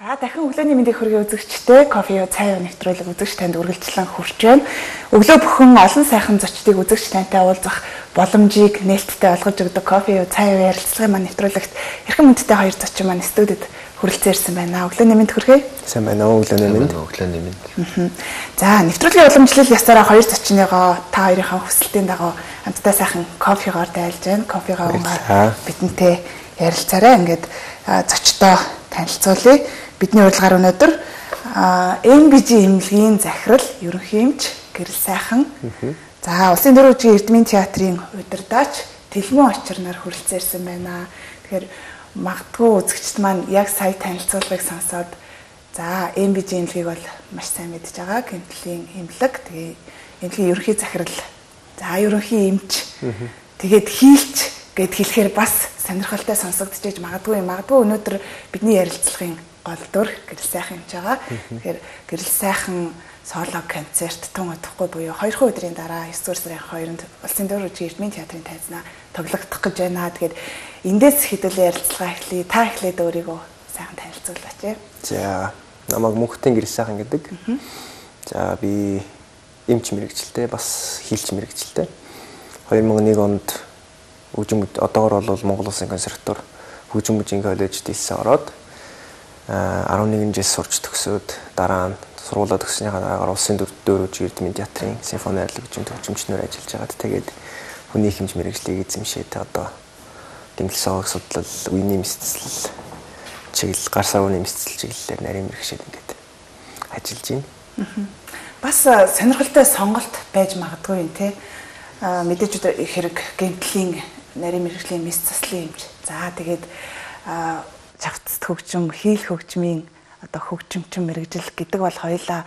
Дахин өглөөний мэндийг хүргэе үзэгчтэй кофе цай нэвтрүүлэг үзэгч танд үргэлжлэн хүрч байна. Өглөө бүхэн олон сайхан зочдыг үзэгч тантай уулзах боломжийг нээлттэй олгож өгдөг кофе цай ярилцлагын маань нэвтрүүлэгт эрхэм хүндтэй хоёр зочин маань студид хүрэлцэн ирсэн байна. Өглөөний мэнд хүргэе. Сайн байна уу? Өглөөний мэнд. За, нэвтрүүлгийн уламжлал ясаараа хоёр зочныгоо та хоёрынхаа хүсэлтийн дагуу хамтдаа сайхан кофегоор дайлж байна. Кофегоо бидэнтэй ярилцаарай. Ингээд зочдоо танилцуулъя. Бидний урилгаар өнөөдөр MBG эмнэлгийн захирал, ерөнхий эмч Гэрэл сайхан. За, Улсын дөрөвжгийн Эрдмийн театрын удирдаач Тэлмэн очир нар хүрэлцээрсэн байна. Тэгэхээр магадгүй үзэгчд маань яг сая танилцуулгыг сонсоод за, MBG эмнэлгийг бол маш сайн мэдж байгаа. Гэмтлийн эмнэлэг, тэгээ эмнэлгийн ерөнхий захирал. За, ерөнхий эмч. Тэгээд хийлч гэд хэлэхээр бас сонирхолтой сонсогдож магадгүй өнөөдөр бидний ярилцлагын гол дүр Гэрэл сайхан юм байгаа. Тэгэхээр Гэрэл сайхан соло концерт тун удахгүй буюу 2 өдрийн дараа 9 сарын 2-нд Улсын дөрөвжгийн Эрдмийн театрын тайзнаа тоглогдох гэж байна. Тэгэхээр эндээс хэдүүлээ ярилцлага эхлэе. Та эхлээд өөрийгөө сайхан танилцуулаач. За, намайг Мөнхтэн Гэрэл сайхан гэдэг. За, би эмч мэрэгчлээ, бас хийлч мэрэгчлээ. 2001 онд одоогор бол Монгол Улсын консерватор хөгжим мужийн коллежид илсэн ороод 11 жил сурч төгсөөд дараа нь сургуулаа төгснөхийн дараагаар Улсын дөрөвжгийн Эрдмийн театрын симфони арлаг хөгжимчнөр ажиллаж байгаад тэгээд хүний хэмж мэрэгжлийг эзэмшээд одоо гэмтэл соёлын судлал, үеийн мэдцэл чиглэл, гар савны мэдцэл чиглэлээр нарийн мэрэгчээд ингээд ажиллаж байна. Бас сонирхолтой сонголт байж магадгүй юм те. Мэдээж хэрэг гэмтлийн нарийн мэрэгжлийн мэс заслын хэмж. За тэгээд чавцт хөгжим, хийл хөгжмийн одоо хөгжимчин мэрэгжил гэдэг бол хоёулаа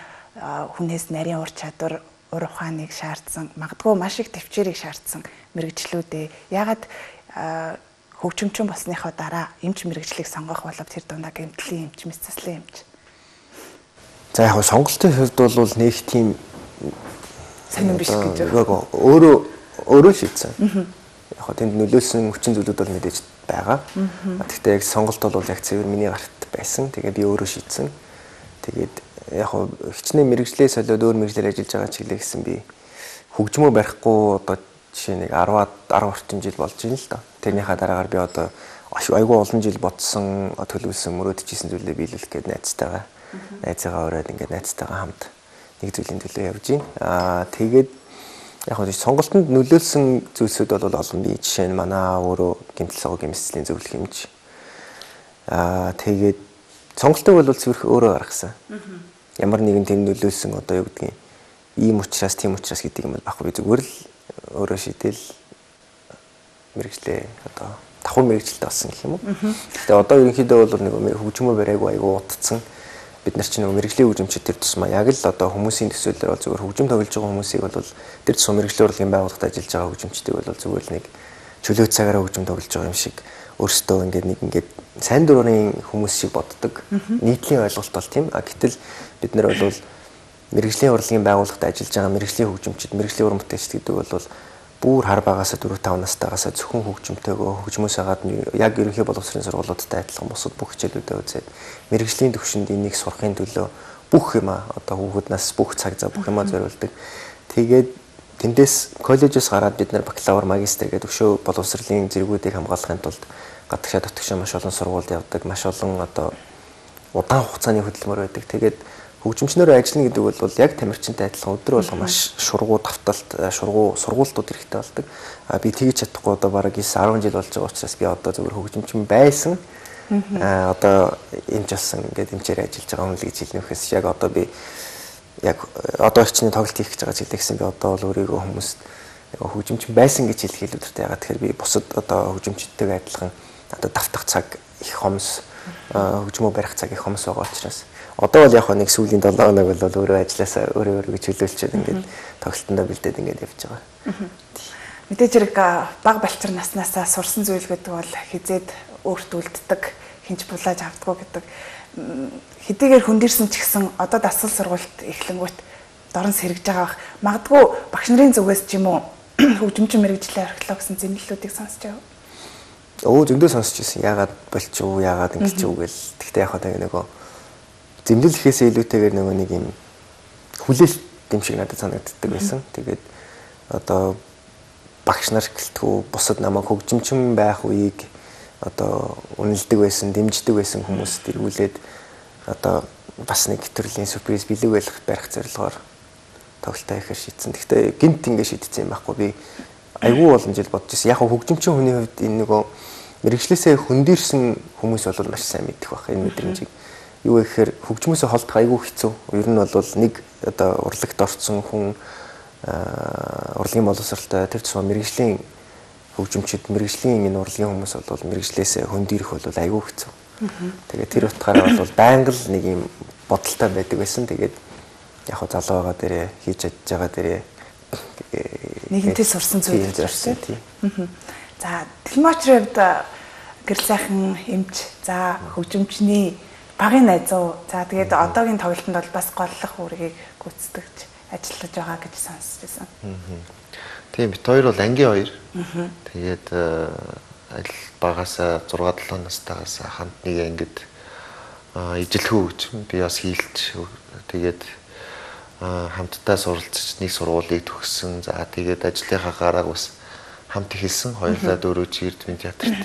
хүнээс нарийн ур чадвар, ур ухааныг шаардсан, магадгүй маш их төвчээрийг шаардсан мэрэгжлүүдээ. Ягаад хөгжимчин болсныхоо дараа эмч мэрэгжлийг сонгох болов тэр дундаа гэмтлийн эмч, мэс заслын эмч. За яг сонголтын хувьд бол нэг тийм сонирн биш гэж байна. Өөрөө шийдсэн. Яг тэнд нөлөөлсөн хүчин зүйлүүд бол мэдээж байгаа. Гэхдээ яг сонголт бол яг цэвэр миний гарт байсан. Тэгээд би өөрөө шийдсэн. Тэгээд яг хичнээн мэрэгжлээ солиод өөр мэрэгжлээр ажиллаж байгаа чиглэлээ гэсэн би хөгжмөө барихгүй одоо жишээ нэг 10 орчим жил болж байна л да. Тэрнийхээ дараагаар би одоо айгүй олон жил бодсон, төлөвлөсөн, мөрөөдчихсэн зүйлээ биелүүлэх гээд найзтайгаа ураад ингээд найзтайгаа хамт нэг зүйлийн төлөө явж байна. Тэгээд яг нь сонголтод нөлөөлсөн зүйлсүүд бол олон бий. Жишээ нь манай өөрөө гэмтэл согоо гэмсцлийн зөвлөх хэмж. Тэгээд сонголтыг бол зөвхөн өөрөө гаргасан. Ямар нэгэн тийм нөлөөлсөн одоо юу гэдгийг ийм учраас тийм учраас гэдэг юм бол баггүй. Би зүгээр л өөрөө шийдэл мэрэгчлээ одоо давхар мэрэгчлээ болсон гэх юм уу. Тэгээд одоо ерөнхийдөө бол нэг хөгжмөө барайгүй айгүй утцсан. Бид нар чинь мэрэгжлийн хөгжимчид тэр тусмаа яг л одоо хүмүүсийн төсөөллөөр бол зүгээр хөгжим тоглож байгаа хүмүүсийг бол тэр тусмаа мэрэгжлийн урлагийн байгууллагад ажиллаж байгаа хөгжимчдийг бол зүгээр л нэг чөлөө цагаараа хөгжим тоглож байгаа юм шиг өөрсдөө ингээд сайн дурын хүмүүс шиг боддог. Нийтлийн ойлголт бол тийм. Гэтэл бид нар бол мэрэгжлийн урлагийн байгууллагад ажиллаж байгаа мэрэгжлийн хөгжимчид, мэрэгжлийн уран бүтээлчид гэдэг бол бүр хар багасаа 4-5 настайгаас зөвхөн хөгжимтэйгөө хөгжмөөс хагаад яг ерөнхий боловсролын сургуулиудтай адилхан бусад бүх хичээлүүдэд үзээд мэрэгжлийн төвшөнд энийг сурахын төлөө бүх юм одоо хүүхднаас бүх цаг зав бүх юмаа зориулдаг. Тэгээд тэндээс коллежоос гараад бид нар бакалавр, магистр гэдэг өшөө боловсролын зэргүүдийг хамгаалахын тулд гадагшаа дотгошоо маш олон сургуульд явдаг, маш олон одоо удаан хугацааны хөдөлмөр байдаг. Тэгээд хөгжимчнөр ажиллана гэдэг бол яг тамирчинтай адилхан өдөр болго маш шургуу давталт, сургуулиуд хэрэгтэй болдог. Би тэгж чадахгүй одоо бараг 9-10 жил болж байгаа учраас би одоо зөвхөн хөгжимчин байсан. Одоо эмч болсон ингээд эмчээр ажиллаж байгаа хүн л гэж хэлнэхээс яг одоо би яг одоо хичнээн тоглолт хийх гэж байгаа ч хэлсэн би одоо бол өөрийгөө хүмүүст хөгжимчин байсан гэж хэлэх хэлбэртэй байгаа. Тэгэхээр би бусад одоо хөгжимчдтэйгээ адилхан одоо давтах цаг их хомс, хөгжмөө барих цаг их хомс байгаа учраас одоо бол яг нэг сүүлийн 7 хоног бол өөрөө ажилласаа өөрөө гэж хөлөөлчихэд ингээд тоглолтондоо бэлдээд ингээд явж байгаа. Мэдээж хэрэг бага балчир наснаасаа сурсан зүйл гэдэг бол хизээд өөрт үлддэг, хинж булааж авдаггүй гэдэг. Хэдийгээр хөндөрсөн ч гэсэн одоо дасгал сургалт эхлэнгүүт дорн сэргэж байгаа бах. Магадгүй багш нарын зүгээс ч юм уу хөгжимчин мэрэгжлийн археолог гэсэн зэмлэлүүдийг сонсч байгаа. Зөндөө сонсч ирсэн. Яагаад болчих уу, яагаад ингэж үү гэл. Гэхдээ яг хаа нөгөө зэмлэлхээс илүүтэйгээр нөгөө нэг юм хүлээлт юм шиг надад санагддаг байсан. Тэгээд одоо багш нар гэлтгүү бусад намайг хөгжимчин байх үеийг одоо үнэлдэг байсан, дэмждэг байсан хүмүүст эргүүлээд одоо бас нэг төрлийн сюрприз бэлэг барих зорилгоор тоглолтоо хийхээр шийдсэн. Гэхдээ гинт ингэ шийдсэн юм байхгүй. Би айгүй олон жил бодож ирсэн. Яг хөгжимчин хүний хувьд энэ нөгөө мэрэгчлээсээ хөндөрсөн хүмүүс бол маш сайн мэддэг байх энэ мэдрэмжийг. Юу гэхээр хөгжмөөсөө холдох айгүй хэцүү. Ер нь бол нэг одоо урлагт орсон хүн урлагийн боловсролтой тэр тусмаа мэрэгжлийн хөгжимчид мэрэгжлийн энэ урлагийн хүмүүс бол мэрэгжлээсээ хөндөрөх бол айгүй хэцүү. Тэгээд тэр утгаараа бол байнга л нэг юм бодолтой байдаг байсан. Тэгээд яг хоо залуу байгаа дээрээ хийж чадж байгаа дээрээ нэгэнтээ сурсан зүйл зорсон тийм. За Дэлмочрын хувьд гэрэл сайхан эмч, за хөгжимчний багын найзуу, за тэгээд одоогийн тоглолтод бол бас голлох үүргийг гүйцэтгэж ажиллаж байгаа гэж сонсч байсан. Тийм бит хоёр бол ангийн хоёр. Тэгээд аль багасаа 6-7 настайгаас хамт нэг ангид ижилхэн хөгжим би бас хийлж тэгээд хамтдаа суралцж нэг сургуулийг төгссөн. За тэгээд ажлынхаа гарааг бас хамт эхэлсэн. Хоёулаа дөрөв Эрдмийн театрт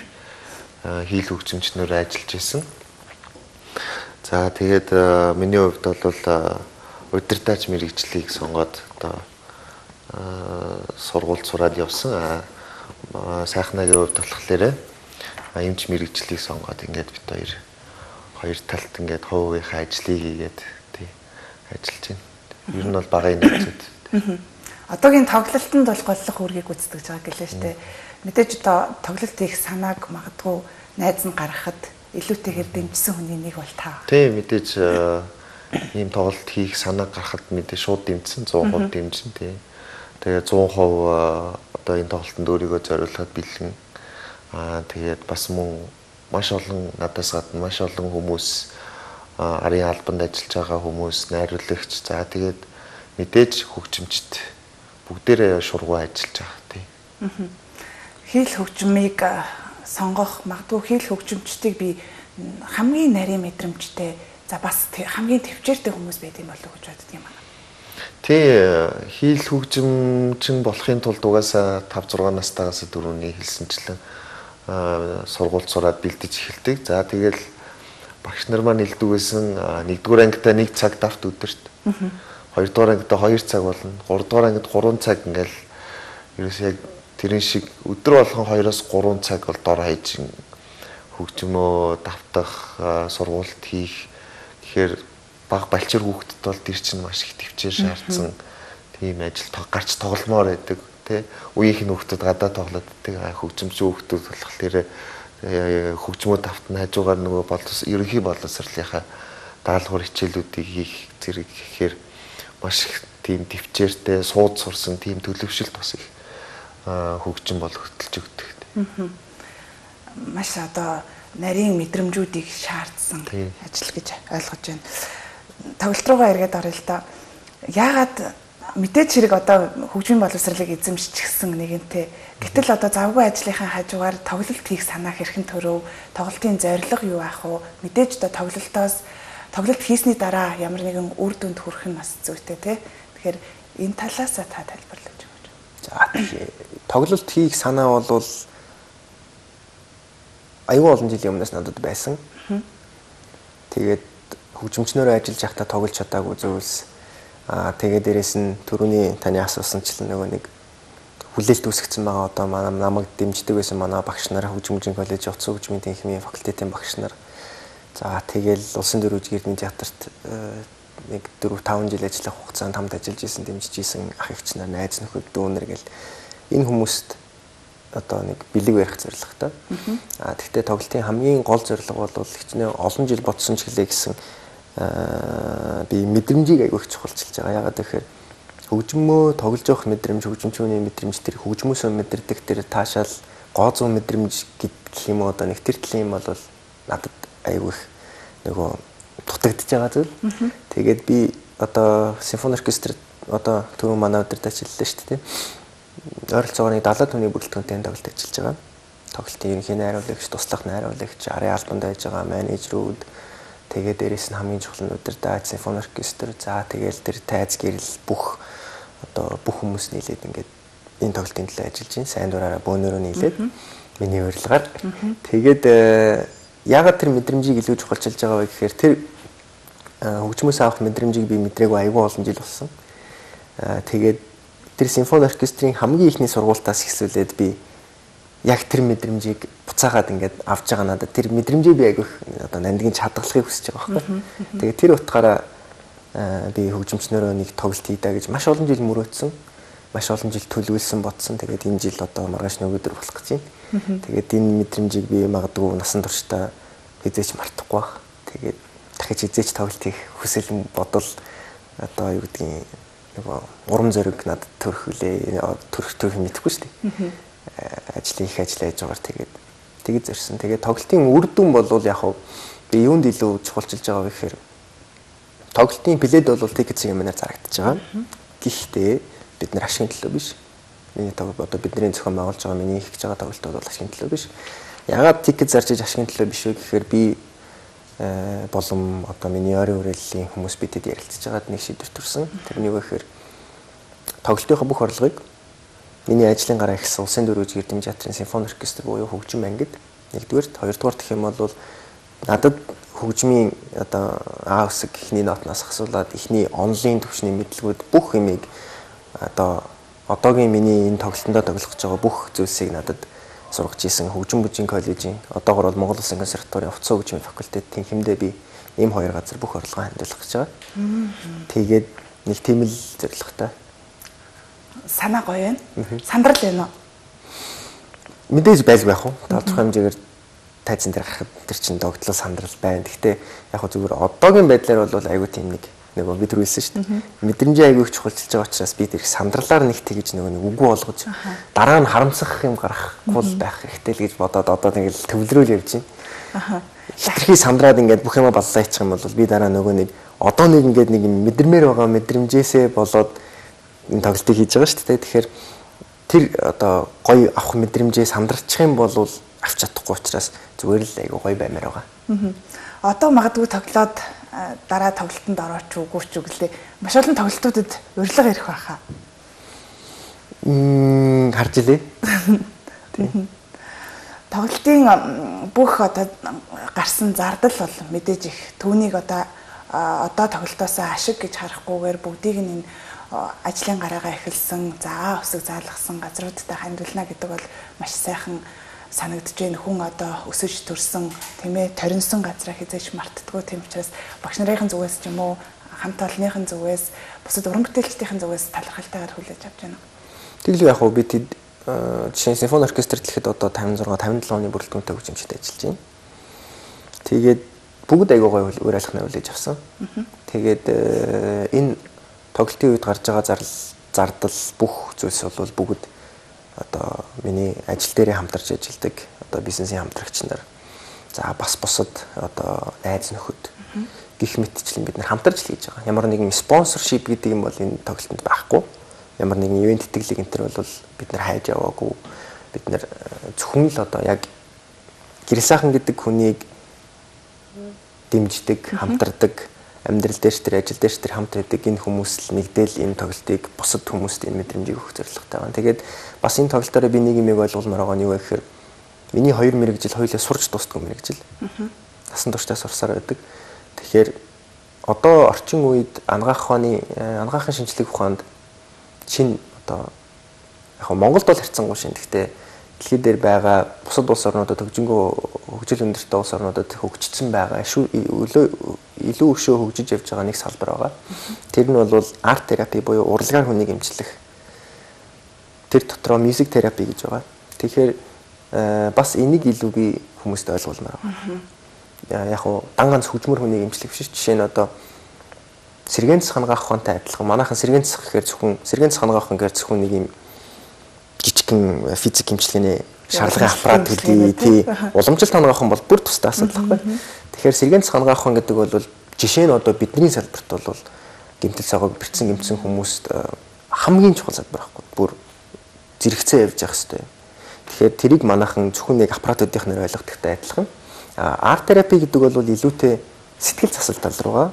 хийл хөгжимчнөр ажиллаж исэн. За тэгээд миний хувьд бол удирдаач мэрэгжлийг сонгоод одоо сургуульд сураад явсан. Сайхнагийн хувьд болохоор эмч мэрэгжлийг сонгоод ингээд бит хоёр талд ингээд хувийнхаа ажлыг хийгээд тий ажиллаж байна. Ер нь бол багын найзууд. Одоогийн тоглолтод бол голлох үүргийг гүйцэтгэж байгаа гэлээ штэ. Мэдээж одоо тоглолт их санааг магадгүй найз нь гаргахад илүүтэйгээр дэмжсэн хүний нэг бол та. Тийм мэдээж ийм тоглолт хийх санааг гаргахад мэдээж шууд дэмжсэн 100% дэмжсэн тийм. Тэгээ 100% одоо энэ тоглолтод өөрийгөө зориулахад бэлэн. Тэгээд бас мөн маш олон надаас гадна маш олон хүмүүс арын албанд ажиллаж байгаа хүмүүс, найруулагч, за тэгээд мэдээж хөгжимчд бүгдээрээ шургуу ажиллаж байгаа тийм. Хийл хөгжмийг сонгох магадгүй хийл хөгжимчдийг би хамгийн нарийн мэдрэмжтэй, за бас хамгийн төвчээртэй хүмүүс байдаг юм болов уу гэж боддөг юм байна. Тий, хийл хөгжимчин болохын тулд угаасаа 5-6 настайгаас дөрөвний хэлсэнчлэн сургуульд сураад бэлдэж эхэлдэг. За тэгэл багш нар маань хэлдэг байсан 1-р ангидаа 1 цаг давт өдөрт. 2-р ангидаа 2 цаг болно. 3-р ангид 3 цаг ингээл ерөөсөө яг тэрэн шиг өдөр болгон 2-оос 3 цаг бол дор хаяж хөгжмөө давтах, сургуульд хийх гэхээр баг балчир хүүхдэд бол тэр чинь маш их төвчээр шаардсан тийм ажил гарч тогломоор байдаг тий. Үеийнх нь хүүхдэд гадаа тоглоод байдаг хөгжимч хүүхдүүд болохоор хөгжмөө давтна хажуугаар нөгөө ерөнхий боловсролынхаа даалгавар хичээлүүдийг хийх зэрэг гэхээр маш их тийм төвчээртэй сууд сурсан тийм төлөвшөлт бас их хөгжим бол хөтөлж өгдөг. Маш одоо нарийн мэдрэмжүүдийг шаардсан ажил гэж ойлгож байна. Тоглолт руугаа эргээд орё л да. Яагаад мэдээж хэрэг одоо хөгжмийн боловсролыг эзэмшчихсэн нэгэнтээ. Гэтэл одоо завгүй ажлынхаа хажуугаар тоглолт хийх санаа хэрхэн төрөв? Тоглолтын зорилго юу байх вэ? Мэдээж одоо тоглолт хийсний дараа ямар нэгэн үр дүнд хүрэх нь бас зүйтэй тий. Тэгэхээр энэ талаасаа та тайлбарлаж өгөөч. За тоглолт хийх санаа бол аюул олон жилийн өмнөөс надад байсан. Тэгээд хөгжимчнөрөө ажиллаж байхдаа тоглож чадаагүй зүйлс. Тэгээд дээрэс нь түрүүний таны асуусанчлан нөгөө нэг хүлээлт үүсгэсэн байгаа одоо намайг дэмждэг байсан манай багш нар хөгжмийн коллеж утас хөгжмийн техникийн факультетийн багш нар. За тэгэл улсын дөрвөж Эрдмийн театрт нэг 4-5 жил ажиллах хугацаанд хамт ажиллаж исэн, дэмжиж исэн ах эгч нар, найз нөхөд, дүүнэр гэл энэ хүмүүст одоо нэг бэлэг барих зорилготой. Тэгвэл тоглолтын хамгийн гол зорилго бол хичнээн олон жил бодсон ч гэлээ гэсэн би мэдрэмжийг аягүй их чухалчилж байгаа. Яагаад гэхээр хөгжмөө тоглож явах мэдрэмж, хөгжимчүүний мэдрэмж тэр хөгжмөөсөө мэдэрдэг тэр таашаал гоо зүүн мэдрэмж гэх юм уу одоо нэг тэр талын юм бол надад аягүй их нөгөө дутагдж байгаа зүйл. Тэгээд би одоо симфони оркестрт одоо түрүү манай удирдаач хэллээ шүү дээ. Ойролцоогоор нэг 70 төвний бүрэлдэхүүнтэй тоглолт ажиллаж байгаа. Тоглолтын ерөнхий найруулагч, туслах найруулагч, арын албанд байж байгаа менежерүүд, Тэгээд дээрэс нь хамгийн чухал нь удирдаа симфони оркестр. За тэгээд тэр тайз гэрэл бүх хүмүүс нийлээд ингээд энэ тоглолтын төлөө ажиллаж байна. Сайн дураараа бөөнөрөө нийлээд миний урилгаар. Тэгээд яагаад тэр мэдрэмжийг илүү чухалчилж байгаа вэ гэхээр тэр хөгжмөөс авах мэдрэмжийг би мэдрээгүй аягүй олон жил болсон. Тэгээд тэр симфони оркестрийн хамгийн ихний сургуультаас эхлүүлээд би яг тэр мэдрэмжийг буцаагаад ингээд авч байгаа надад тэр мэдрэмжийг би аягүй одоо нандгийн чадгалахыг хүсэж байгаа байхгүй. Тэгээд тэр утгаараа би хөгжимчнөрөө нэг тоглолт хийдаа гэж маш олон жил мөрөөдсөн. Маш олон жил төлөвлөсөн бодсон. Тэгээд энэ жил одоо маргааш нөгөөдөр болох гэж байна. Тэгээд энэ мэдрэмжийг би магадгүй насан туршдаа хизээч мартахгүй байх. Тэгээд дахиж хизээч тоглолт хийх хүсэл бодол одоо юу гэдгийг нөгөө урам зориг надад төрөх мэдэхгүй шүү дээ. Ажлын их ажил хийж байгаагаар тэгээд зорьсон. Тэгээд тоглолтын үр дүн бол яг хав би юунд илүү чухалчилж байгаа вэ гэхээр тоглолтын плейд бол тикетсийн юмнаар зарагдаж байгаа. Гэхдээ бид нар ашигын төлөө биш. Миний тоглолт одоо бидний зохион байгуулж байгаа миний хийж байгаа тоглолтууд бол ашигын төлөө биш. Ягаад тикет зарж иж ашигын төлөө биш вэ гэхээр би болон одоо миний ойрын хүрээллийн хүмүүс бидэд ярилцж байгаад нэг шийдвэр төрсөн. Тэр нь юу вэ гэхээр тоглолтынхаа бүх орлогыг миний ажлын гараа ихсэн Улсын дөрвөж эрдэмтэн театрын симфони оркестр буюу хөгжим ангид нэгдүгээрт, хоёрдугаар гэх юм бол надад хөгжмийн одоо А үсэг ихний нотноос асуулаад ихний онлайн төвчний мэдлгүүд бүх юмыг одоо одоогийн миний энэ тоглолтондоо тоглох гэж байгаа бүх зүйлсийг надад сургаж исэн хөгжим бүжгийн коллежийн одоогор бол Монгол Улсын консерваторийн хувцас хөгжмийн факультетийн хэмдээ би ийм хоёр газар бүх орлогоо хандуулах гэж байгаа. Тэгээд нэг тийм л зорилготой. Санаа гоё байна. Сандрал байна уу? Мэдээж байлгүй яах вэ? Тодорхой хэмжээгээр тайзан дээр гарахад тэр чин догтлол сандрал байна. Гэхдээ яг хөө зүгээр одоогийн байдлаар бол айгүй тийм нэг бид түрүүлсэн шүү дээ. Мэдрэмжээ айгүй их чухалчилж байгаа учраас би тэр сандралаар нэг тэгж нэг үгүй болгож дараа нь харамсах юм гарахгүй байх хэрэгтэй л гэж бодоод одоо нэг төвлөрөөл явж байна. Хитрхи сандраад ингээд бүх юма баллаа хийчих юм бол би дараа нөгөө нэг одоо нэг ингээд нэг мэдэрмээр байгаа мэдрэмжээсээ болоод энэ тоглолтыг хийж байгаа шүү дээ. Тэгэхээр тэр одоо гоё авах мэдрэмжээ сандарчих юм бол авч чадахгүй учраас зүгээр л айгүй гоё баймаар байгаа. Одоо магадгүй тоглоод дараа тоглолтод орооч үгүй ч үгэлээ. Маш олон тоглолтуудад урилга ирэх байхаа. Харж илээ. Тоглолтын бүх одоо гарсан зардал бол мэдээж их түүнийг одоо тоглолтоосоо ашиг гэж харахгүйгээр бүгдийг нь ажлын гараагаа эхэлсэн, заа өсөг заалгасан газруудтай хандуулна гэдэг бол маш сайхан санагдж байна. Хүн одоо өсөж төрсөн, тийм ээ, торинсон газраа хизээч мартдаггүй. Тийм учраас багш нарын зүгээс ч юм уу, хамт олонныхын зүгээс, бусад уран бүтээлчдийн зүгээс талархалтайгаар хүлээж авч байна. Тэглээ яг хөө би жишээ нь симфони оркестр дэлхэд одоо 56 57 оны бүрэлдэхүүнтэй хөгжимчтэй ажиллаж байна. Тэгээд бүгд аягүй гоё үр айлхнаа хүлээж авсан. Тэгээд энэ тоглолтын үед гарч байгаа зардал бүх зүйлс бол бүгд одоо миний ажил дээрээ хамтарч ажилладаг одоо бизнесийн хамтрагч нар за бас бусад одоо найз нөхөд гих мэтчлэн бид нар хамтарч л хийж байгаа. Ямар нэгэн спонсоршип гэдэг юм бол энэ тоглолтод байхгүй. Ямар нэгэн ивент тэтгэлэг энэ төр бол бид нар хайж яваагүй. Бид нар зөвхөн л одоо яг гэрэл сайхан гэдэг хүнийг дэмждэг, хамтардаг, амьдрал дээр ч тэр ажил дээр ч тэр хамт байдаг энэ хүмүүс л нэгдэл энэ тоглолтыг бусад хүмүүст энэ мэдрэмжийг өгөх зорилготой байна. Тэгээд бас энэ тоглолтоор би нэг юм ойлгуулмаар байгаа нь юу вэ гэхээр миний 2 мэрэгжил хоёулаа сурч дуустдаг мэрэгжил. Насан туршдаа сурсаар байдаг. Тэгэхээр одоо орчин үед анагаахын шинжлэх ухаанд шинэ одоо яг Монголд бол харьцангуй шинэ. Гэхдээ дэлхийд дээр байгаа бусад улс орнуудад хөгжил өндөртэй улс орнуудад хөгжсөн байгаа илүү өшөө хөгжиж явж байгаа нэг салбар байгаа. Тэр нь бол арт терапи буюу урлагаар хүнийг эмчлэх. Тэр дотроо мьюзик терапи гэж байгаа. Тэгэхээр бас энийг илүү би хүмүүст ойлгуулмаар байгаа. Яг уу дан ганц хөгжмөр хүнийг эмчлэх биш. Жишээ нь одоо сэргээн цахангаах ухаантай адилхан. Манайхан сэргээн цах гэхээр зөвхөн нэг юм жижигхэн физик эмчилгээний шаардлагын аппарат гэдэг тий уламжлалт хангах бол бүр тустай асуудал байхгүй. Тэгэхээр сэргээн хангах гэдэг бол жишээ нь одоо бидний салбарт бол гэмтэл цагааг бэрцэн хүмүүст хамгийн чухал салбар байхгүй. Бүр зэрэгцээ явж явах хэрэгтэй. Тэгэхээр тэрийг манайхан зөвхөн нэг аппаратуудын нэр ойлгохдогтой адилхан. Арт терапи гэдэг бол илүүтэй сэтгэл засал тал руугаа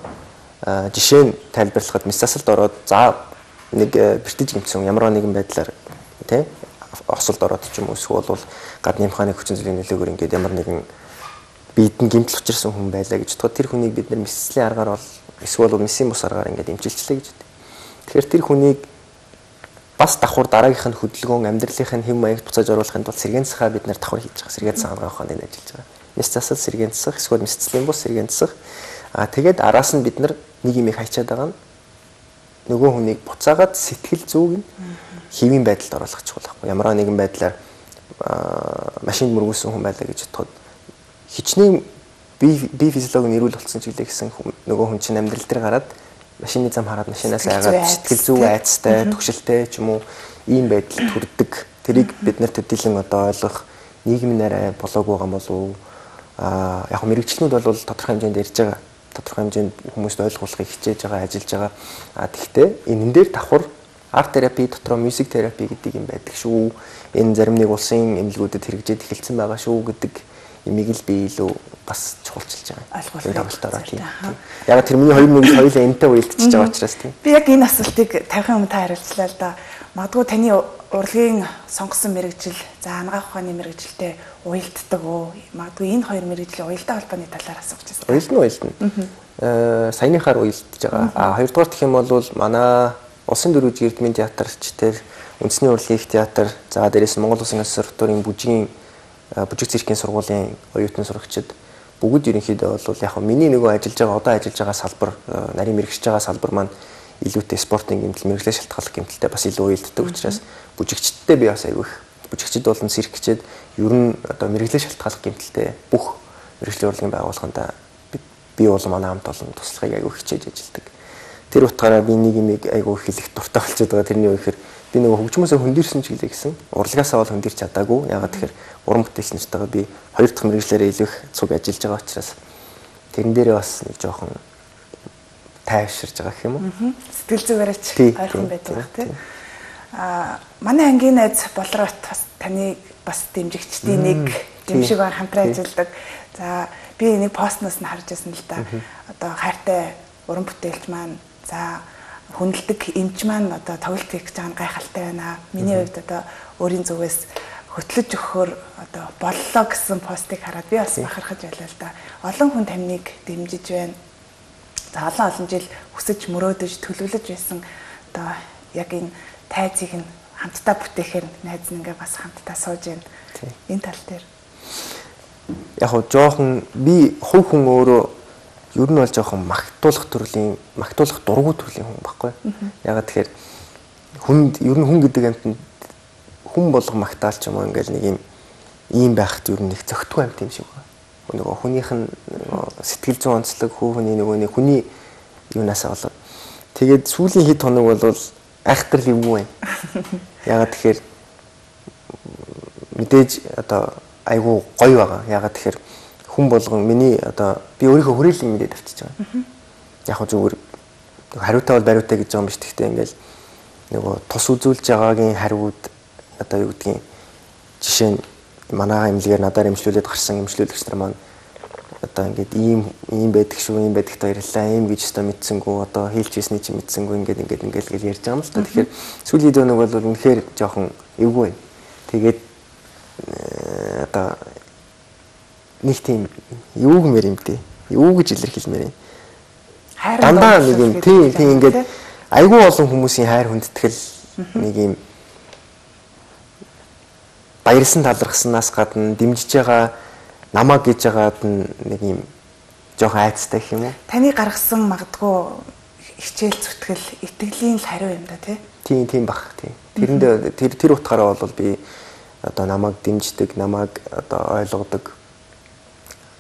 жишээ нь тайлбарлахад мэс засалд ороод за нэг бэртэж гэмтсэн ямар нэгэн байдлаар тий осолд ороод ч юм уу эсвэл гадны механик хүчин зүйлийн нөлөөгөөр ингээд ямар нэгэн биедэн гэмтэл учирсан хүн байлаа гэж бодоход тэр хүнийг бид нар мэслийн аргаар бол эсвэл мэсийн бус аргаар ингээд эмчилчлээ гэж бодъё. Тэгэхээр тэр хүнийг бас давхар дараагийнх нь хөдөлгөөн амьдралынх нь хэм маягт буцааж оруулахын тулд сэргээн засгаа бид нар давхар хийж байгаа. Сэргээн засаг хангах ухаанд ажиллаж байгаа. Мэс засал сэргээн засах эсвэл мэсцлийн бус сэргээн засах. Тэгээд араас нь бид нар нэг юм их хайчаад байгаа нь нөгөө хүнийг буцаагаад сэтгэл зүйг нь хэвийн байдалд оруулах чухал байхгүй. Ямар нэгэн байдлаар машинд мөргүүлсэн хүн байлаа гэж бодоход хичнээн бие физиологи нь эрүүл болсон ч гэлээ гэсэн нөгөө хүн чинь амьдрал дээр гараад машины зам хараад машинаас айгаад сэтгэл зүй айцтай, төгшөлтэй ч юм уу ийм байдал төрдөг. Тэрийг бид нар төдийлөн одоо ойлгох нийгмийн арай болоогүй байгаа болов уу? Яг мэрэгчлэнүүд бол тодорхой хэмжээнд ярьж байгаа. Тодорхой хэмжээнд хүмүүст ойлгуулахыг хичээж байгаа, ажиллаж байгаа. Тэгэхдээ энэ дээр давхар арт терапи дотроо мьюзик терапи гэдэг юм байдаг шүү. Энэ зарим нэг улсын эмнэлгүүдэд хэрэгжээд эхэлсэн байгаа шүү гэдэг имийг л би илүү бас чухалчилж байгаа. Ойлголтоор тийм. Яг тэр миний хоёр нэг хоёулаа энэтэй уялдчихж байгаа учраас тийм. Би яг энэ асуултыг 50 өмнө та хариулчлаа л да. Магадгүй таны урлагийн сонгосон мэрэгжил, за анагаах ухааны мэрэгжилтэй уялддаг уу? Магадгүй энэ хоёр мэрэгжлийн уялдаа холбооны талаар асууж байна. Уялдана. Саяныхаар уялдж байгаа. Хоёрдугаар гэх юм бол манай Улсын дөрвөж эрдмийн театрч тэр үндэсний урлагийн их театр, за дээрээс нь Монгол Улсын консерваторийн бүжиг циркийн сургуулийн оюутан сурагчид бүгд ерөнхийдөө бол яг миний нөгөө ажиллаж байгаа одоо ажиллаж байгаа салбар нарийн мэрэгчж байгаа салбар маань илүүтэй спортын гэмтэл мэрэгчлээ шалтгааллах гэмтэлтэй бас илүү уялддаг учраас бүжигчдтэй би бас айгүй их бүжигчд болон циркчид ер нь одоо мэрэгчлээ шалтгааллах гэмтэлтэй бүх мэрэгчлийн урлагийн байгууллаганд би бол манай хамт олон туслахыг айгүй хичээж ажилладаг. Тэр утгаараа би нэг юм айгүй хэлэх дуртай болчиход байгаа. Тэрний үеэр би нөгөө хөгжмөөсөө хөндөрсөн ч гэлээ гэсэн. Урлагаасаа бол хөндөрч чадаагүй. Ягаад тэгэхээр уран бүтээлч нартайгаа би хоёр дахь мэрэгчлэрээ илүү их цуг ажиллаж байгаа учраас тэрэн дээрээ бас нэг жоохон тайвширж байгаа гэх юм уу. Сэтгэл зүгээрээ ч ойрхон байдаг тийм. Манай ангийн найз Болрот бас таны бас дэмжигчдийн нэг дэмжиг ба хамтран ажилладаг. За би нэг постноос нь харж байсан л да. Одоо хайртай уран бүтээлч маань за хүндэлдэг эмч маань одоо тоглолт хийх гэж байгаа нь гайхалтай байна. Миний хувьд одоо өөрийн зүгээс хөтлөж өгөхөөр одоо боллоо гэсэн постыг хараад би бас бахархаж байлаа л да. Олон хүн таныг дэмжиж байна. За олон жил хүсэж мөрөөдөж төлөвлөж байсан одоо яг энэ тайзыг нь хамтдаа бүтээхээр найз нь ингээ бас хамтдаа сууж байна. Энэ тал дээр яг хоо жоохон би хувь хүн өөрөө ер нь бол жоохон магтуулах дургу төрлийн хүн байхгүй. Ягаад тэгэхээр ер нь хүн гэдэг амтнд хүн болго магтаал ч юм уу ингээл нэг ийм байхад ер нь их зөгтгүй амт юм шиг байна. Нөгөө хүнийх нь сэтгэл зүйн онцлог хүний нөгөө нэг хүний юунасаа болоод тэгээд сүүлийн хэд хоног бол айхтар ливгүй байна. Ягаад тэгэхээр мэдээж одоо айгуу гоё байгаа. Ягаад тэгэхээр хүн болгон миний одоо би өөрийнхөө хүрээлэн мэдээд авчиж байгаа. Яг хөө зүгээр хариутай бол бариутай гэж байгаа юм биш. Гэхдээ ингээл нөгөө тус үзүүлж байгаагийн хариуд одоо юу гэдгийг жишээ нь манай эмнэлгээр надаар эмчлүүлээд гарсан эмчлүүлэгч нар маань одоо ингээд ийм байдаг шүү, ийм байдагт баярлалаа, ийм гэж өстой мэдсэнгүү, одоо хийлч хийсний чи мэдсэнгүү ингээд ярьж байгаа юм л та. Тэгэхээр сүүлийн дөнөг бол үнэхээр жоохон эвгүй байна. Тэгээд одоо нэг тийм юу гэмээр юм дээ. Юу гэж илэрхийлмээр юм. Дандаа нэг юм тийм ингээд айгүй олон хүмүүсийн хайр хүндэтгэл нэг юм баярсан талархснаас гадна дэмжиж байгаа намаа гэж байгаад нэг юм жоохон айцтай гэх юм уу? Таны гаргасан магадгүй хичээл зүтгэл итгэлийн л хариу юм да тий? Тийм бах тий. Тэрэнд тэр утгаараа бол би одоо намайг дэмждэг, намайг одоо ойлгодог,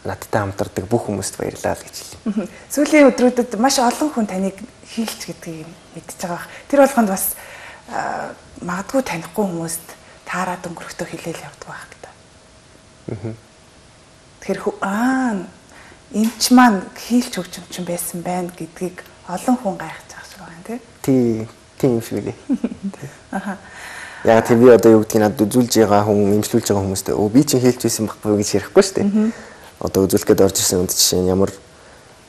надтай хамтардаг бүх хүмүүст баярлалаа л гэж хэлье. Сүүлийн өдрүүдэд маш олон хүн таныг хийлч гэдгийг мэдчихэж байгаа. Тэр болгонд бас магадгүй танихгүй хүмүүст таарад өнгөрөхдөө хэлээл явдаг байх гэдэг. Тэгэхээр эмч маань хийлч хөгжимчин байсан байна гэдгийг олон хүн гайхаж байгаа шиг байна тий. Тийм шиг лээ. Яг тэр би одоо юу гэдгийг надад үзүүлж байгаа хүн, эмчлүүлж байгаа хүмүүстэй би чинь хийлч байсан байхгүй гэж ярихгүй шүү дээ. Одоо үзүүлэх гээд орж ирсэн үнд жишээ нь ямар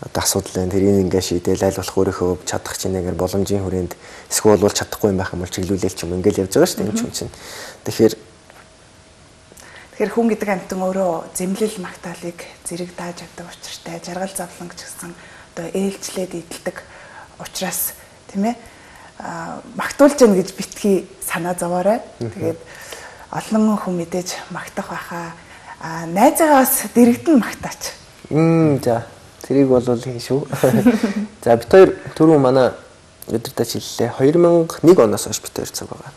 одоо асуудал байна. Тэрийг ингээ шийдээл аль болох өөрийнхөө чадах чинь ингээ боломжийн хүрээнд эсвэл бол чадахгүй юм байх юм бол чиглүүлэл ч юм ингээл явж байгаа шүү дээ юм чинь. Тэгэхээр хүн гэдэг амьтан өөрөө зэмлэл магтаалыг зэрэг дааж авдаг учиртай, жаргал завлан ч гэсэн одоо ээлжлээд идэлдэг учраас тийм ээ магтуулж яана гэж битгий санаа зовоорой. Тэгээд олон хүн мэдээж магтах байхаа найзаагаа бас дэрэгдэн магтаач. За тэрийг бол хийн шүү. За бид хоёр түрүү манай өдөртөж хэллээ. 2001 оноос хойш бид хоёр цаг байгаа.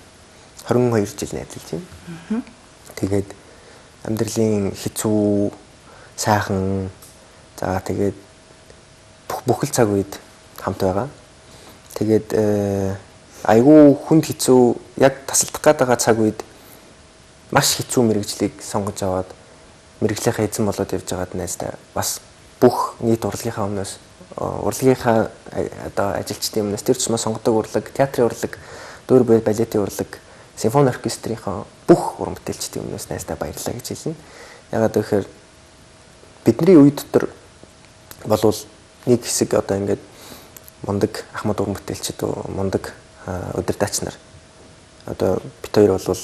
22 жил найзалж байна. Тэгээд амьдралын хэцүү сайхан за тэгээд бүхэл цаг үед хамт байгаа. Тэгээд айгүй хүнд хэцүү яг тасалдах гээд цаг үед маш хэцүү мэрэгжлийг сонгож аваад мэрэгжлийнхаа эзэн болоод явж байгаад найзтай бас бүх нийт урлагийнхаа өмнөөс урлагийнхаа одоо ажилчдын өмнөөс тэр тусмаа сонгодог урлаг, театрын урлаг, дуур балетын урлаг, симфони оркестрийнхаа бүх уран бүтээлчдийн өмнөөс найзтай баярлалаа гэж хэлнэ. Ягаад гэвэл бидний үе дотор болвол нэг хэсэг одоо ингээд мундаг ахмад уран бүтээлчид мундаг удирдаач нар одоо бид хоёр бол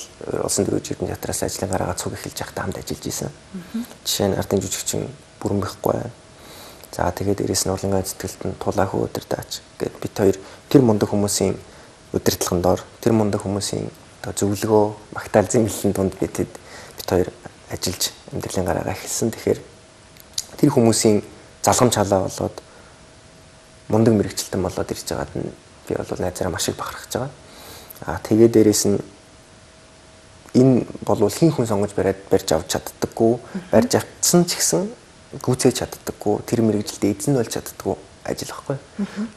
улсын дөрвөн жиргэн театраас ажлын гараагаа цуг эхэлж байхдаа хамт ажиллаж исэн. Жишээ нь ардын жүжигчин Бүрэнбэхгүй. За тэгээд дээрээс нь урлангаа зэтгэлтэн тулаахуу удирдаач гэд бид хоёр тэр мундаг хүмүүсийн удирдлагын доор тэр мундаг хүмүүсийн одоо зөвлөгөө магтаал зэмлэлийн дунд бид хоёр ажиллаж амьдралын гараагаа эхэлсэн. Тэгэхээр тэр хүмүүсийн залгамж халаа болоод мундаг мэрэгчлэлтэн болоод ирж байгаад нь би бол найзаараа маш их бахархаж байгаа. Тэгээд дээрээс нь энэ болвол хин хүн сонгож барьж авч чаддаггүй, барьж авцсан ч гэсэн гүйцээж чаддаггүй, тэр мэрэгжилтэд эзэн болж чаддаггүй ажил байхгүй.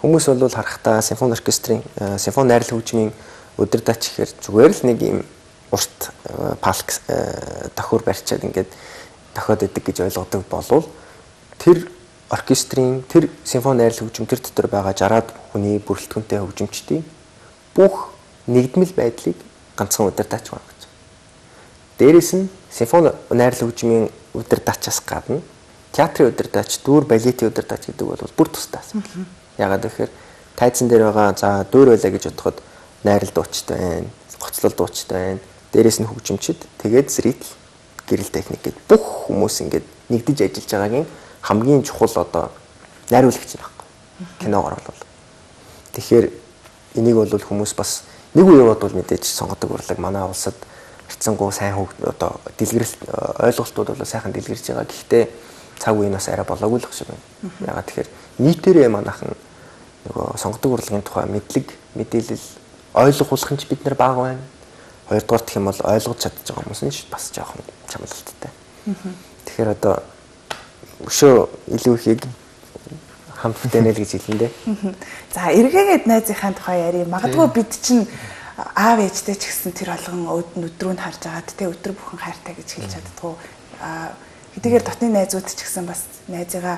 Хүмүүс бол харахтаа симфони оркестрийн симфони найрал хөгжмийн удирдаач гэхээр зүгээр л нэг юм урт палк тохиор барьчаад ингээд тохиод идэг гэж ойлгодог болвол тэр оркестрийн тэр симфони найрал хөгжим тэр дотор байгаа 60-аад хүний бүрэлдэхүүнтэй хөгжимчдийн бүх нэгдмэл байдлыг ганцхан удирдаач байна гэж. Дээрээс нь симфони найрал хөгжмийн удирдаачаас гадна театрын удирдаач, дуур балетын удирдаач гэдэг бол бүр тустай асуудал. Ягаад гэхээр тайзан дээр байгаа за дуур байлаа гэж бодоход найрал дуучтай байна, гоцлол дуучтай байна. Дээрээс нь хөгжимчд тэгээд зритель гэрэл техник гэдэг бүх хүмүүс ингээд нэгдэж ажиллаж байгаагийн хамгийн чухал одоо найруулагч нь байхгүй. Киногоор бол. Тэгэхээр энийг бол хүмүүс бас нэг үеэд бол мэдээж сонгодог урлаг манай улсад харьцангуй сайн одоо дэлгэрэлт ойлголтууд бол сайхан дэлгэрж байгаа. Гэхдээ цаг үеийн бас арай болоогүй л шиг байна. Ягаад тэгэхээр нийтээрээ манайхан нөгөө сонгодог урлагийн тухай мэдээлэл ойлгуулах нь ч бид нар бага байна. Хоёрдугаар гэх юм бол ойлгож чадчих байгаа хүмүүс нь бас жоохон чамлалттай. Тэгэхээр одоо өшөө илүү ихийг хамт бүтэнэл гэж хэлнэ. За эргээгээд найзынхаа тухай ярив. Магадгүй бид чинь аав ээжтэй ч гэсэн тэр болгон өдрөө нь харж агаад тэ өдөр бүхэн хайртай гэж хэлж чаддгүй. Хэдийгээр дотны найзууд ч гэсэн бас найзыгаа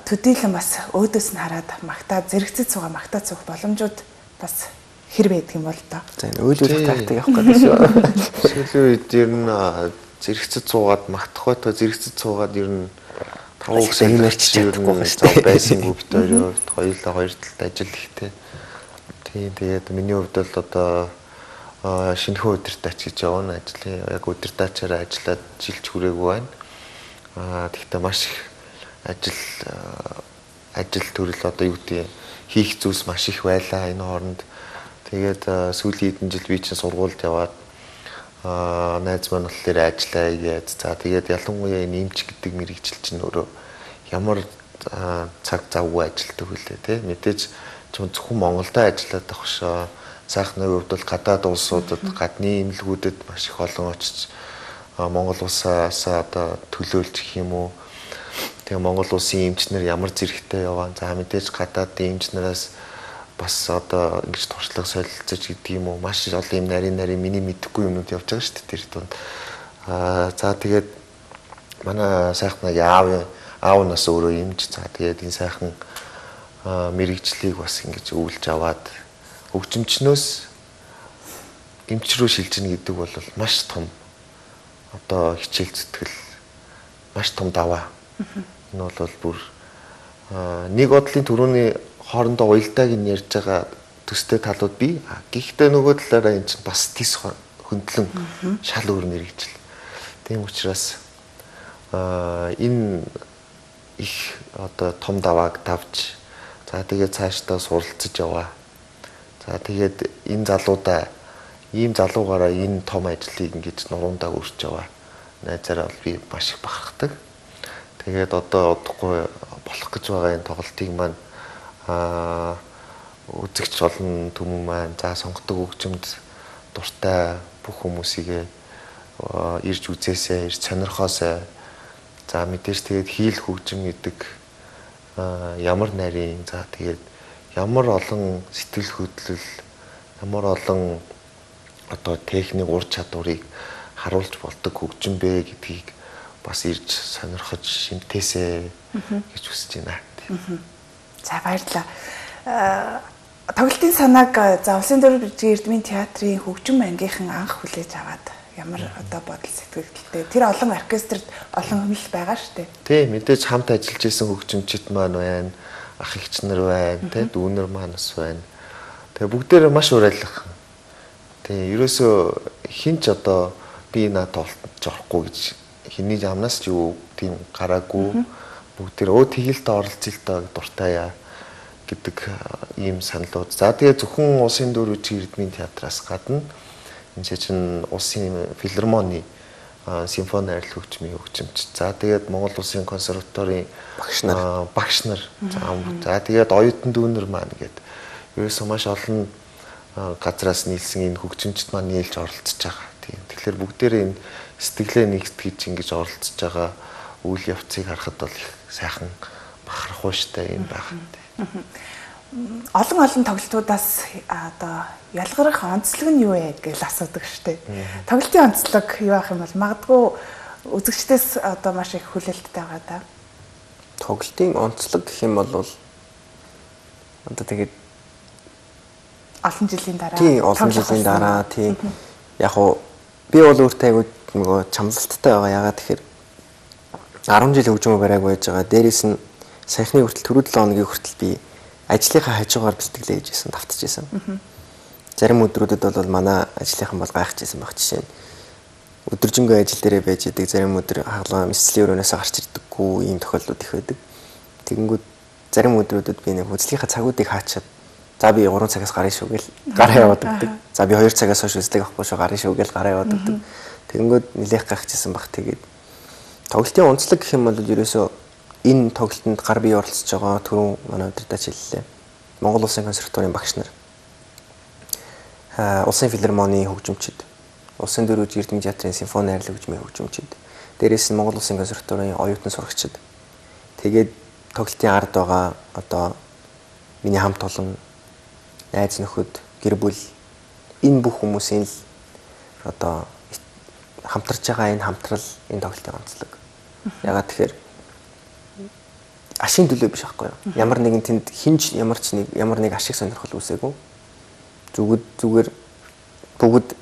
төдийлөн бас өөдөөс нь хараад магтаад зэрэгцэд суугаа магтаад суух боломжууд бас хэр байдаг юм бол доо. За энэ өөлөөлөх тактик явах гэдэг шүү. Сүүлийн үед ер нь зэрэгцэд суугаад магтах байтугай зэрэгцэд суугаад ер нь 5 өсөөр ярьж чадахгүй шүү байсангүй бид хоёулаа хоёр талд ажил ихтэй. Тэгээд миний хувьд бол одоо шинэхэн удирдаач гэж явна ажлын яг удирдаачаараа ажиллаад жилч хүрээгүй байна. Тэгэхдээ маш их ажил төрөл одоо юу гэдэг хийх зүйлс маш их байлаа энэ хооронд. Тэгээд сүүлийн хэдэн жил би чинь сургуульд яваад найз маань болохоор ажиллаа гээд за тэгээд ялангуяа энэ эмч гэдэг мэрэгжил чинь өөрөө ямар цаг завгүй ажилтдаг хүлээ тий мэдээж зөвхөн Монголдо ажиллаад байх шоо сайхны хувьд бол гадаад улсуудад гадны эмнэлгүүдэд маш их олон очиж Монгол улсаас одоо төлөөлж гэх юм уу тэгээ Монгол улсын эмчнэр ямар зэрэгтэй яваа за мэдээж гадаадын эмчнараас бас одоо ингэж туршлага солилцож гэдэг юм уу маш олон юм нарийн миний мэдэхгүй юмнууд явж байгаа шүү дээ тэр тунд за тэгээд манай сайхны аав нас өөрөө эмч за тэгээд энэ сайхан мэрэгжлийг бас ингэж өвлж аваад хөгжимчнөөс эмч рүү шилжинэ гэдэг бол маш том одоо хичээл зүтгэл маш том даваа. Энэ бол бүр нэг бодлын төрөний хоорондоо уялдааг нь ярьж байгаа төстэй талууд бий. Гэхдээ нөгөө талаараа энэ чинь бас тис хөндлөн шал өөр мэрэгжил. Тийм учраас энэ их одоо том давааг давж за тэгээд цаашдаа суралцж яваа. За тэгээд энэ залуудаа ийм залуугаараа энэ том ажлыг ингэж нуруундаа өрч яваа. Найзаараа би маш их бахархдаг. Тэгээд одоо удахгүй болох гэж байгаа энэ тоглолтыг маань үзэгч олон түмэн маань за сонгодог хөгжимд дуртай бүх хүмүүсийгээ ирж үзээсэй, ирж сонирхоосэй. За мэдээж тэгээд хийл хөгжим гэдэг ямар нарийн за тэгээд ямар олон сэтгэл хөдлөл, ямар олон одоо техник ур чадварыг харуулж болдог хөгжим бэ гэдгийг бас ирж сонирхож шимтээсэй гэж хүсэж байна. За баярлалаа. Тоглолтын санааг за Улсын дөрвөн бэржгийн Эрдмийн театрын хөгжим ангийнхан анх хүлээж аваад ямар одоо бодол сэтгэлдээ тэр олон оркестрт олон хэмжил байгаа шүү дээ. Тий, мэдээж хамт ажиллаж исэн хөгжимчид маань байна, ах эгч нар байна, тий, дүүнер маань бас байна. Тэгээ бүгдээрээ маш урайлах. Тий, ерөөсөө хинч одоо би наад тоглолтод орохгүй гэж хиний амнаас ч юу тийм гараагүй. Бүгдээр тэгэлд оролцъё л доо дуртай яа гэдэг ийм саналууд. За тэгээ зөвхөн Улсын дөрвөн бэржгийн Эрдмийн театраас гадна энэ чинь Улсын филармоны симфони арил хөгжмийн хөгжимч. За тэгээд Монгол Улсын консерваторийн багш нар. За тэгээд оюутан дүүнер маань гэдэг. Ерөөсөө маш олон газраас нийлсэн энэ хөгжимчд маань нийлж оролцож байгаа. Тийм. Тэгэхээр бүгдээрээ энэ сэтгэлээ нэгтгэж ингэж оролцож байгаа үйл явцыг харахад бол их сайхан бахархуу штэ юм байна. Олон тоглолтуудаас одоо ялгарх онцлог нь юу вэ гэж асуудаг штэ. Тоглолтын онцлог юу ах юм бол магадгүй үзэгчдээс одоо маш их хүлээлттэй байгаа да. Тоглолтын онцлог гэх юм бол одоо тэгээд олон жилийн дараа. Тийм, олон жилийн дараа тийм. Яг уу би бол өөртөө айгуу нөгөө чамлалттай байгаа. Ягаад тэгэхээр 10 жил хөгжмөө барайг байж байгаа. Дээрээс нь саяхны хүртэл түрүү 7 хоногийн хүртэл би ажлынхаа хажуугаар бэлтгэлээ хийжсэн, давтчихсан. Зарим өдрүүдэд бол манай ажлынхан бол гайхажсэн баг жишээ нь. Өдөржингөө ажил дээрээ байж идэг, зарим өдөр хаглаа эсцлийн өрөөнөөс гарч ирдэггүй ийм тохиолдлууд их байдаг. Тэгэнгүүт зарим өдрүүдэд би нэг үзлийнхаа цагуудыг хаачаад за би 3 цагаас гарна шүү гэл гараа яваад өгдөг. За би 2 цагаас хойш үзлэг авахгүй шүү гарна шүү гэл гараа яваад өгдөг. Тэгэнгүүт нилээх гайхажсэн баг. Тэгээд тоглолтын онцлог гэх юм бол ерөөсөө энэ тоглолтод гар бие оролцож байгаа түрүүн манай өдөртөж хэллээ. Монгол Улсын консерваторийн багш нар, Улсын филармоны хөгжимчид, Улсын дөрвөн бэржгийн Эрдмийн театрын симфони арил хөгжмийн хөгжимчид, дээрээс нь Монгол Улсын консерваторийн оюутан сурагчид. Тэгээд тоглолтын ард байгаа одоо миний хамт олон найз нөхөд, гэр бүл энэ бүх хүмүүсийн л одоо хамтарч байгаа энэ хамтрал энэ тоглолтын онцлог. Ягаад тэгэхээр ашийн төлөө биш аахгүй юу. Ямар нэгэн тэнд хинж ямар нэг ашиг сонирхол үүсээгүй. Зүгээр бүгд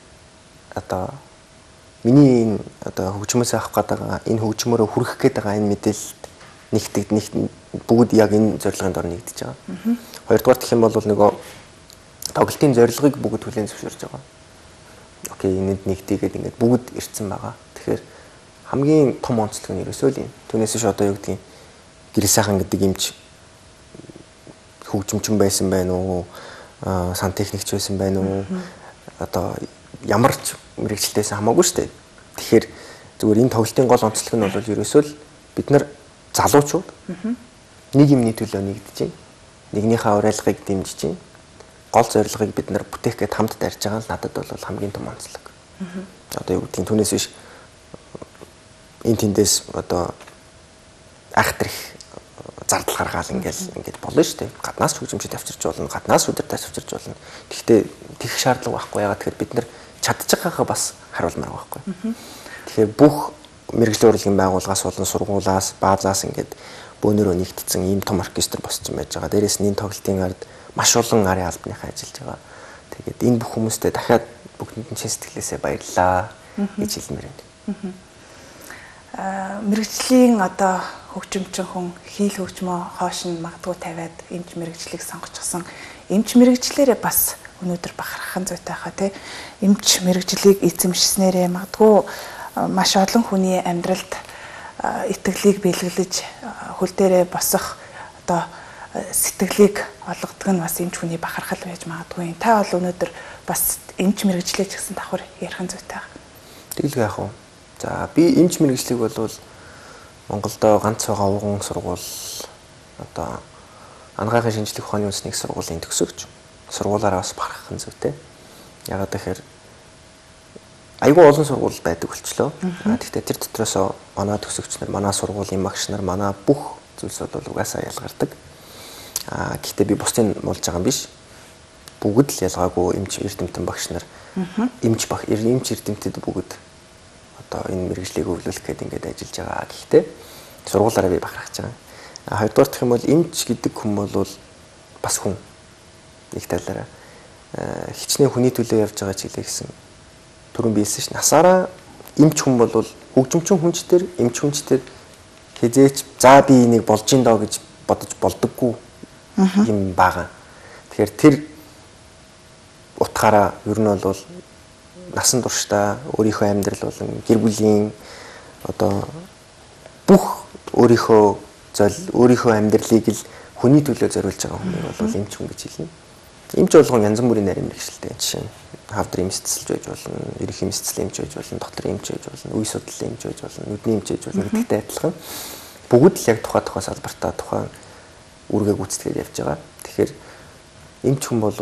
одоо миний энэ одоо хөгжмөөс авах гэдэг энэ хөгжмөөрөө хүрэх гээд байгаа энэ мэдээлэлд бүгд яг энэ зорилгын дор нэгдэж байгаа. Хоёрдугаар гэх юм бол нөгөө тоглолтын зорилгыг бүгд хүлээн зөвшөөрж байгаа. Окей, энэнд нэгтийгээд ингээд бүгд ирсэн байгаа. Тэгэхээр хамгийн том онцлог нь ерөөсөө л юм. Түүнээс ш одоо юу гэдгийг гэрэл сайхан гэдэг юмч хөгжимчин байсан байна уу? Сантехникч байсан байна уу? Одоо ямар ч мэрэгчлээс хамаагүй шүү дээ. Тэгэхээр зүгээр энэ тоглолтын гол онцлог нь бол ерөөсөө л бид нар залуучууд нэг юмний төлөө нэгдэж байна. Нэгнийхээ урайлгыг дэмжиж байна. Гол зорилгыг бид нар бүтээх гээд хамт дарж байгаа л надад бол хамгийн том онцлог. Одоо юу гэдгийг түүнээс биш энэ тэндээс одоо айхтрих зардал гаргаал ингээд болно шүү дээ. Гаднаас хөгжимчд авчирч болно, гаднаас үдирдээс авчирч болно. Гэхдээ тэгэх шаардлага байхгүй. Ягаад тэгэхээр бид нар чадж байгаагаа бас харуулмаар байхгүй. Тэгэхээр бүх мэрэгжлийн урлагийн байгууллагаас болон сургуулаас, баазаас ингээд бөөнөрөө нэгтдсэн ийм том оркестр босч байж байгаа. Дээрээс нь энэ тоглолтын ард маш олон арын албаныхаа ажиллаж байгаа. Тэгээд энэ бүх хүмүүстээ дахиад бүгдэнд нь чин сэтгэлээсээ баярлалаа гэж хэлмээр байна. Мэргэжлийн одоо хөгжимчин хүн хийл хөгжмөө хоош нь магадгүй тавиад эмч мэрэгжлийг сонгочихсон. Эмч мэрэгжлээрээ бас өнөөдөр бахархах зүйтэй хаа тий. Эмч мэрэгжлийг эзэмшснээрээ магадгүй маш олон хүний амьдралд итгэлийг бэлгэлж хөл дээрээ босох одоо сэтгэлийг олгодог нь бас эмч хүний бахархал байж магадгүй. Та бол өнөөдөр бас эмч мэрэгжлээ ч гэсэн давхар ярих зүйтэй. Тэгэлгүй яах вэ? За би эмч мэрэгжлийг бол Монголдо ганц байгаа уган сургууль одоо анагаахын шинжлэх ухааны үндэсний сургуулийн төгсөгч. Сургуулаараа бас бахархах зүйтэй. Ягаад гэхээр айгүй олон сургууль байдаг болчлоо. Гэхдээ тэр дотроос манай төгсөгч нар, манай сургуулийн багш нар, манай бүх зүйлс бол угаасаа ялгардаг. Гэхдээ би бусдын муулж байгаа юм биш. Бүгд л ялгаагүй эмч эрдэмтэн багш нар. Эмч эрдэмтэд бүгд одоо энэ мэрэгжлийг өвлүүлэх гэдэг ингээд ажиллаж байгаа. Гэхдээ сургуулаараа би бахархаж байгаа. Хоёрдугаар дэх юм бол эмч гэдэг хүн бол бас хүн. Нэг талаараа хичнээн хүний төлөө явж байгаа ч гэлээ гэсэн түрүүн биелсэн ш. Насаараа эмч хүн бол хөгжимчин хүнчтэр, эмч хүнчтэр хизээч за би энийг болж ин доо гэж бодож болдоггүй юм байгаа. Тэгэхээр тэр утгаараа ер нь бол насан туршдаа өөрийнхөө амьдрал болон гэр бүлийн одоо бүх өөрийнхөө амьдралыг л хүний төлөө зориулж байгаа хүмүүс бол эмч хүн гэж хэлнэ. Эмч болгон янз бүрийн нарийн мэргэжилтэй. Жишээ нь хавдрын эмч цэцэлж байж болно, ерөнхий эмч цэцэл эмч байж болно, доторын эмч байж болно, үе судлалын эмч байж болно, нүдний эмч байж болно гэдэгтэй адилхан. Бүгд л яг тухайн салбартаа тухайн үргээ гүйцэтгээд явж байгаа. Тэгэхээр эмч хүн бол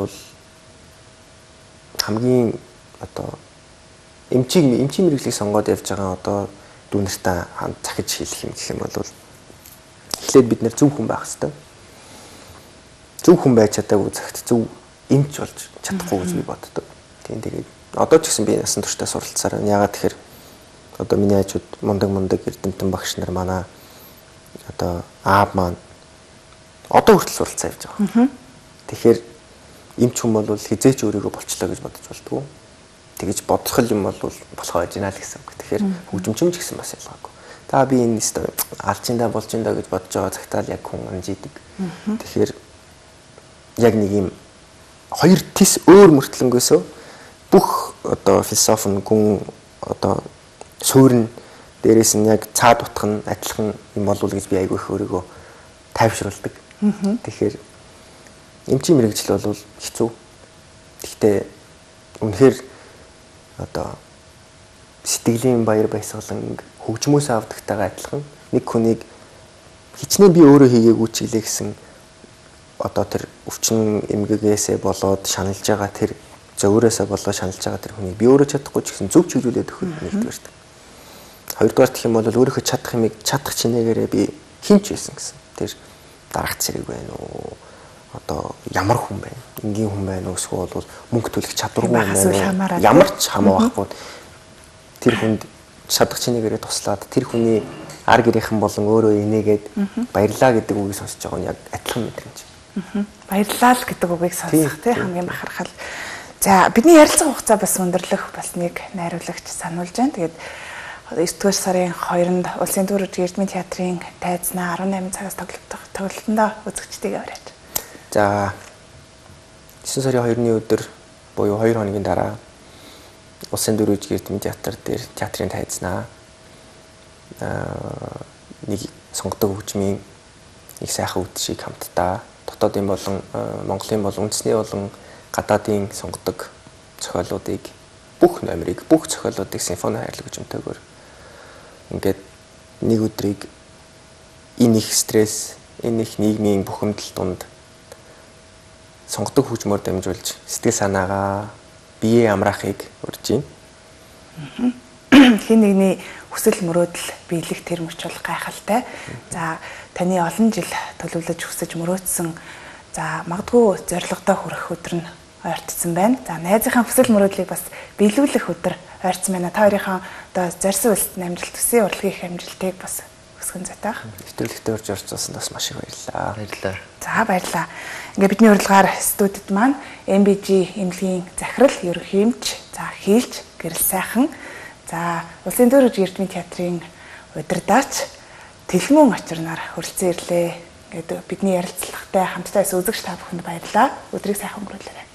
хамгийн одоо эмчийн мэргэжлийг сонгоод явж байгаа одоо дүү нартаа захиж хэлэх юм гэх юм бол эхлээд бид нэр зөв хүн байх хэрэгтэй. Зөв хүн байж чадаагүй цагт зөв эмч болж чадахгүй гэж би боддог. Тийм тэгээд одоо ч гэсэн би насан туршдаа суралцсаар байна. Ягаад тэгэхээр одоо миний хажууд мундаг эрдэмтэн багш нар манай одоо аав маань одоо хүртэл суралцаа явж байгаа. Тэгэхээр эмч хүн бол хизээч өөрийгөө болчлоо гэж бодож болдгоо. Тэгэж бодох юм бол болохоо байж гинэ л гэсэн үг. Тэгэхээр хөгжимчмж гэсэн бас ялгаагүй. Та би энэ алчиндаа болж индаа гэж бодож байгаа цагтаа л яг хүн амжидаг. Тэгэхээр яг нэг юм хоёр тис өөр мөртлөнгөөсөө бүх одоо философи гүн одоо суурин дээрээс нь яг цаад утх нь адилхан юм болов гэж би айгүй их өөрийгөө тайвшруулдаг. Тэгэхээр эмчийн мэргэжил бол хэцүү. Гэхдээ үнэхээр одоо сэтгэлийн баяр баясгалан хөгжмөөс авдагтайгаа адилхан нэг хүнийг хичнээн би өөрөө хийгээгүй ч гэлээ гэсэн одоо тэр өвчин эмгэгээсээ болоод шаналж байгаа тэр зөөрөөсөө болоод шаналж байгаа тэр хүнийг би өөрөө чадахгүй ч гэсэн зөв чиглүүлээд өгөх нэгдүгээр. Хоёрдугаар гэх юм бол өөрийнхөө чадах юмыг чадах чинээгээрээ би хинч байсан гэсэн. Тэр дарагт зэрэг байна уу? Одоо ямар хүн байна? Энгийн хүн байна уу? Эсвэл бол мөнгө төлөх чадваргүй байна уу? Ямар ч хамаахгүй. Тэр хүнд чадах чинээгээрээ туслаад тэр хүний ар гэрийнхэн болон өөрөө инээгээд баярлаа гэдэг үгийг сонсож байгаа нь яг адилхан мэдрэмж. Баярлалаа л гэдэг үгийг сонсох тий хамгийн бахархал. За бидний ярилцах хугацаа бас өндөрлөх бас нэг найруулагч сануулж байна. Тэгээд 9-р сарын 2-нд Улсын төр эрдмийн театрын тайзнаа 18 цагаас тоглолтондоо үзэгчдийг авраач. За 9 сарын 2-ны өдөр буюу 2 хоногийн дараа Улсын төр эрдмийн театр дээр театрын тайзнаа нэг сонгодог хөгжмийн нэг сайхан үдшийг хамтдаа дотоодын болон Монголын болон үндэсний болон гадаадын сонгодог зохиолуудыг бүх номерыг бүх зохиолуудыг симфони хайрлаг хөгжмөнтэйгээр ингээд нэг өдрийг энэ их стресс, энэ их нийгмийн бухимдал донд сонгодог хөгжмөөр дамжуулж сэтгэл санаагаа биеэ амраахыг урьж байна. Хин нэгний хүсэл мөрөөдөл биелэх тэр мөч бол гайхалтай. За таны олон жил төлөвлөж хүсэж мөрөөдсөн за магадгүй зорилгодоо хүрэх өдөр нь ойртсон байна. За найзынхаа хүсэл мөрөөдлийг бас биелүүлэх өдөр ойртсон байна. Та хоёрынхаа одоо зорьсон үлсэнд амжилт төсөө урлагийн их амжилтыг бас өсгөн зэтаах. Нэвтрүүлэгтээ орж орцсон бас маш их баярлалаа. Баярлалаа. За баярлалаа. Ингээ бидний урилгаар студид маань MBG эмнэлгийн захирал ерөнхий эмч, за хийлж гэрэл сайхан, за Улсын төр эрдмийн театрын удирдаач, Тэлмүүн очирнаар хүрэлцэн ирлээ. Ингээд бидний ярилцлагатай хамтдаа үзэгч та бүхэнд баярлалаа. Өдрийг сайхан өнгөрүүлээрэй.